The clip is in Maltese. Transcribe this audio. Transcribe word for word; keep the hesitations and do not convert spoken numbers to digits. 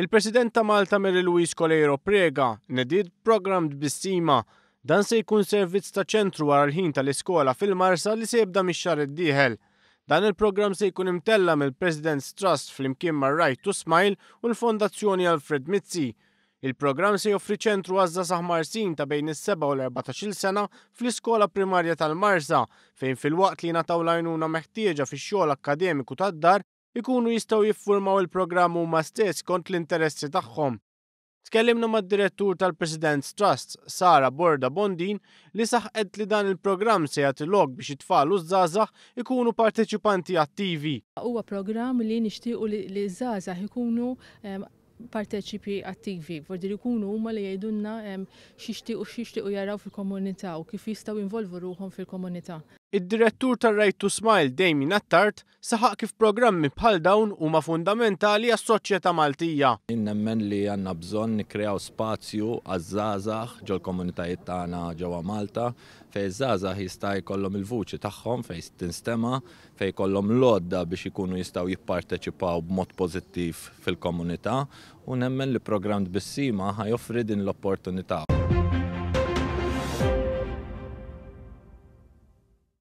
Il-President ta' Malta Mary Louise Coleiro Preca nediet programm Tbissima. Dan se jkun servizz ta' ċentru wara l-ħin tal-iskola fil-Marsa li se jibda mix-xahar id-dieħel. Dan il-programm se jkun imtella mill-President's Trust flimkien mar Right to Smile u l-Fondazzjoni Alfred Mizzi. Il-programm se joffri ċentru għaż-żgħażagħ Marsin ta' bejn is-seba' u l-erbatax-il sena fl-iskola primarja tal-Marsa, fejn filwaqt li jingħataw l-għajnuna meħtieġa fix-xogħol akkademiku tad-dar, ikunu jistgħu jiffurmaw il-programm huma stess kont l-interessi tagħhom. Tkellimna mad-direttur tal-President's Trust, Sara Borda Bondin, li saħqet li dan il-programm se jagħti lok biex it-tfal u żgħażagħ ikunu parteċipanti attivi. Huwa programm li nixtiequ li żgħażagħ ikunu parteċipi attivi, vordi li jkunu huma li jgħidulna x'jixtiequ x'jixtiequ jaraw fil-komunità u kif jistgħu jinvolvu ruħhom fil-komunità. Id-direttur tar-Right to Smile, Damien Attard, saħaq kif programmi bħal dawn huma fundamentali għas-soċjetà Maltija. Nemmen li għandna bżonn nikkreaw spazju għaż-żgħażagħ ġol-komunitajiet tagħna ġewwa Malta, fejn iż-żgħażagħ jista' jkollhom il-vuċi tagħhom, fejn tinstema', fejn jkollhom l-għodda biex ikunu jistgħu jipparteċipaw b'mod pożittiv fil-komunità, u nemmen li programm Tbissima ħa joffri din l-opportunità.